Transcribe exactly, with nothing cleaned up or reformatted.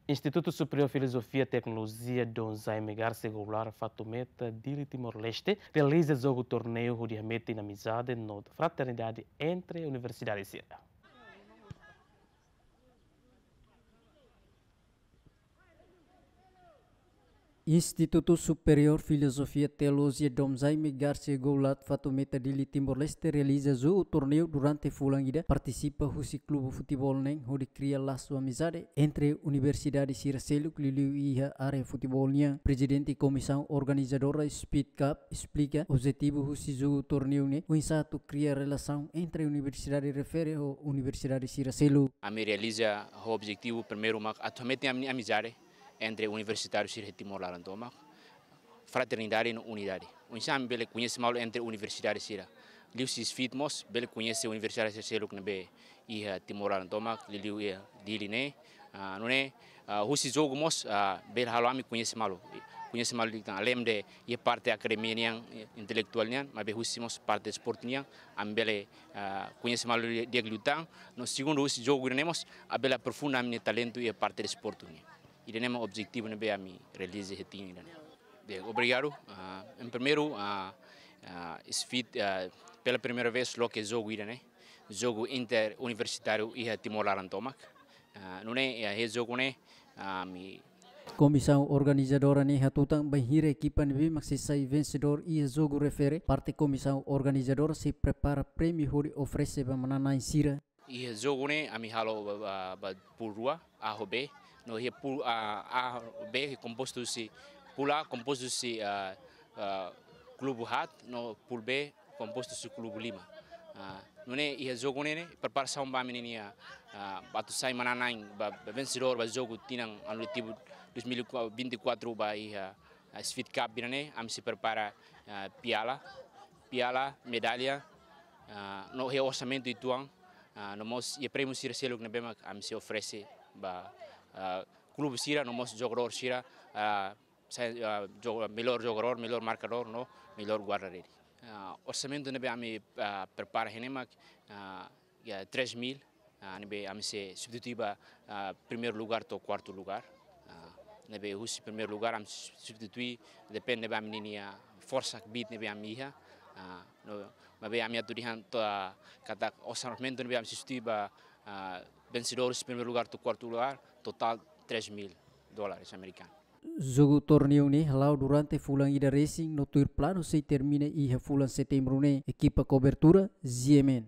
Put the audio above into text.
Instituto Superior Filosofia Teknolojia Dom Jaime Garcia Goulart Fatumeta, Dili, Timor-Leste, realiza jogu torneiu hodi hametin amizade no fraternidade entre universidade sira. Instituto Superior Filosofia Teolojia Dom Jaime Garcia Goulart Fatumeta, Dili, Timor-Leste, realiza jogu torneiu durante fulan ida, partisipa husi klube futeból neen hodi kria lasu amizade entre universidade sira seluk, liuliu iha área futeból nian. Prezidente Komisaun Organizadora Speed Cup esplika objetivu husi jogu torneiu ne'e oinsá atu kria relasaun entre universidade refere ho universidade sira seluk. Ami realiza ho objetivu primeiru mak atu hametin ami-nia amizade entre universitáriu sira iha Timor laran tomak, fraternidade no unidade. Oinsá ami bele koñese malu entre universidade sira. Liuhusi SFIT mós bele koñese universidade sira seluk ne'ebé iha Timor laran tomak, liuliu iha Dili ne'e. Ah, nune'e, ah, husi jogu mós, ah, bele halo ami koñese malu. Koñese malu liután, além de iha parte akademia nian, eh, intelektuál nian, maibé husi mós parte desportu nian, ami bele, ah, koñese malu di'ak liután. No segundu, husi jogu ida-ne'e mós ami bele aprofunda ami-nia talentu iha parte desportu nian. Ida-ne'e mak objetivu ne'ebé ami realiza iha tinan ida-ne'e. Bem, obrigadu. Ah, em primeiru, ah, ah, SFIT, ah, pela primeira vez loke jogu ida-ne'e, jogu interuniversitáriu iha Timor laran tomak. Ah, nune'e, ah, iha jogu ne'e, ah, ami... Komisaun organizadora ne'e hatutan, bainhira ekipa ne'ebé mak sei sai vensedór iha jogu refere, parte komisaun organizadora sei prepara prémiu hodi oferese ba manán-na'in sira. Iha jogu ne'e ami halo ba, ba, ba pool rua, A ho B. No iha pool, ah, A ho B kompostu husi, pool A kompostu husi, ah, ah, klube haat, no pool B kompostu husi klube lima. Ah, nune'e iha jogu ne'e, ne'e preparasaun ba ami-nia, ah, ba atu sai manán-na'in, ba, ba vensedór ba jogu tinan anu letivu dois mil e vinte e quatro ba iha, ah, SFIT Cup ida-ne'e, ami sei prepara, ah, piala, piala, medalla, ah, no iha orsamentu uitoan, ah, no mós iha prémiu sira seluk ne'ebé mak ami sei oferese ba, ah, klube sira, no mós jogadór sira, ah, sai, ah, jo-, melhor jogadór, melhor markadór, no melhor guarda-rede. Ah, orsamentu ne'ebé ami, ah, prepara iha ne'e mak, ah, iha três mil, ah, ne'ebé ami sei substitui ba, ah, primeiru lugár to'o kuartu lugár. Ah, ne'ebé husi primeiru lugár ami substitui, depende ba ami-nia forsa kbiit ne'ebé ami iha. Ah, no, maibé ami atu dehan to'o, ah, katak orsamentu ne'ebé ami substitui ba, ah, vensedór husi primeiru lugár to'o kuartu lugár, totál três mil dólares amerikanu. Jogu torneiu ne'e hala'o durante fulan ida resin, no tuir planu sei termina iha fulan Setembru ne'e. Ekipa kobertura, G M N.